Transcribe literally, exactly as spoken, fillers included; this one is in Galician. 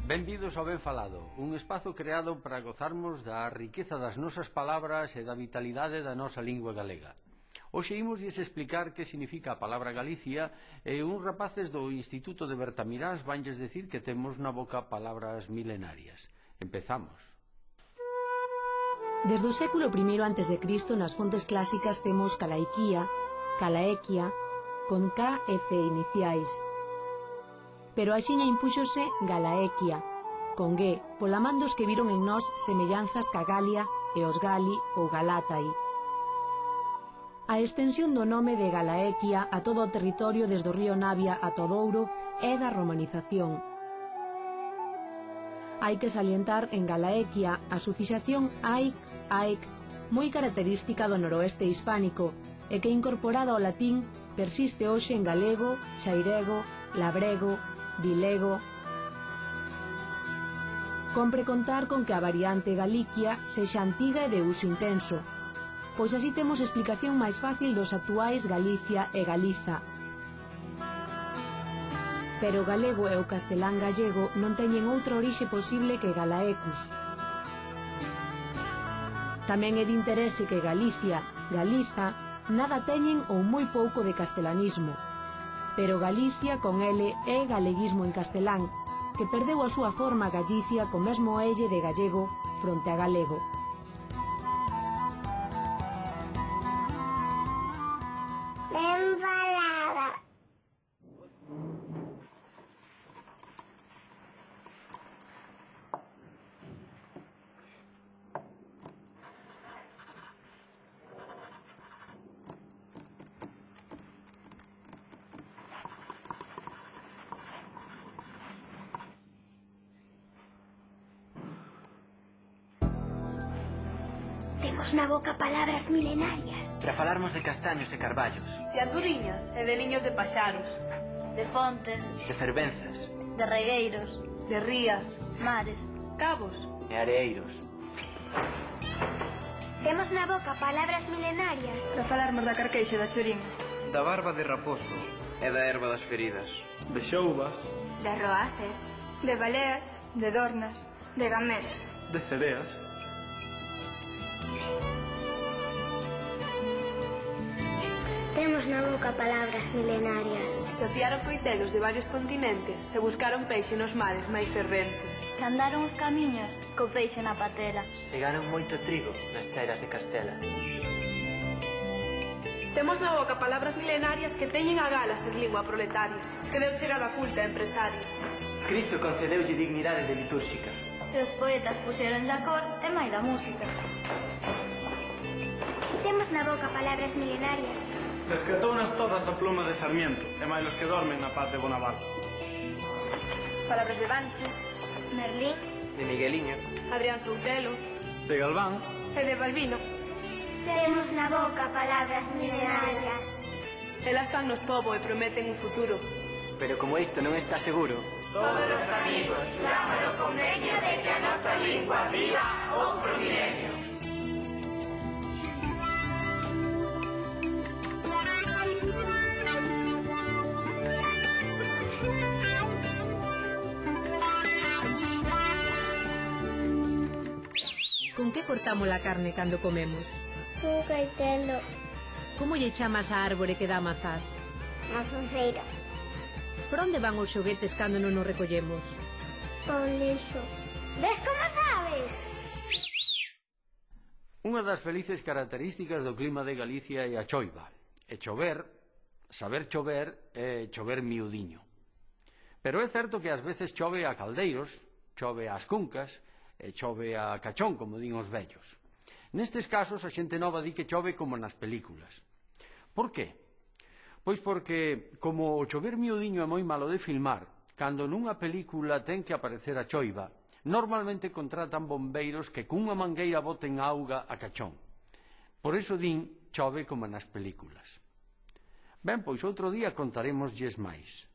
Benvidos ao Ben Falado, un espazo creado para gozarmos da riqueza das nosas palabras e da vitalidade da nosa lingua galega. Hoxe imosles explicar que significa a palabra Galicia e uns rapaces do Instituto de Bertamirás vanlles decir que temos na boca palabras milenarias. Empezamos. Desde o século primeiro antes de Cristo nas fontes clásicas temos Calaiquía, Calaequia, con K e C iniciais. Pero axiña impúxose Galaequia, con G, pola man dos que viron en nós semellanzas ca Galia e os Gali ou Galatai. A extensión do nome de Galaequia a todo o territorio desde o río Navia a Todouro é da romanización. Hai que salientar en Galaequia a sufixación aic, aic, moi característica do noroeste hispánico e que incorporada ao latín persiste hoxe en galego, xairego, labrego, vilego. Compre contar con que a variante Galiquia sexa antiga e de uso intenso, pois así temos explicación máis fácil dos actuais Galicia e Galiza. Pero o galego e o castelán gallego non teñen outra orixe posible que Galaecus. Tamén é de interese que Galicia, Galiza, nada teñen ou moi pouco de castelanismo, pero Galicia con L é galeguismo en castelán, que perdeu a súa forma Galicia co mesmo elle de gallego fronte a galego. Ben falada. Temos na boca palabras milenarias. Para falarmos de castaños e carballos, de anduriñas e de niños de paxaros, de fontes, de fervenzas, de regueiros, de rías, mares, cabos e areeiros. Temos na boca palabras milenarias. para falarmos da carqueixa da chorín, da barba de raposo e da erva das feridas, de xoubas, De roaces. de baleas, de dornas, de gamelas. de cereas. Temos na boca palabras milenarias. Rociaron coitelos de varios continentes e buscaron peixe nos mares máis ferventes. que andaron os camiños co peixe na patela. Segaron moito trigo nas chairas de Castela. Temos na boca palabras milenarias que teñen a gala ser lingua proletaria, que deu chegada culta e empresaria. Cristo concedeulle dignidade de litúrxica. E os poetas puxeron a cor e mai da música. Temos na boca palabras milenarias. Rescatounas todas a pluma de Sarmiento, e máis os que dormen na paz de Bonaparte. Palabras de Banse, Merlín, de Migueliño, Adrián Soutelo De Galván, e de Balbino. Temos na boca palabras milenarias. Elas fan nos pobo e prometen un futuro. Pero como isto non está seguro, Todos os amigos xuramos o convenio de que a nosa lingua viva outro milenio. Con que cortamos a carne cando comemos? Un coitelo. Como lle chamas a árbore que dá mazás? A fonfeira. Por onde van os xoguetes cando non nos recollemos? O lixo. Ves como sabes? Unha das felices características do clima de Galicia é a choiva. E chover, saber chover, é chover miudiño. Pero é certo que ás veces chove a caldeiros, chove ás cuncas, e chove a cachón, como din os vellos. Nestes casos, a xente nova di que chove como nas películas. Por qué? Pois porque, como o chover miudiño é moi malo de filmar, cando nunha película ten que aparecer a choiva, normalmente contratan bombeiros que cunha mangueira boten auga a cachón. Por iso din chove como nas películas. Ben, pois outro día contaremoslles máis.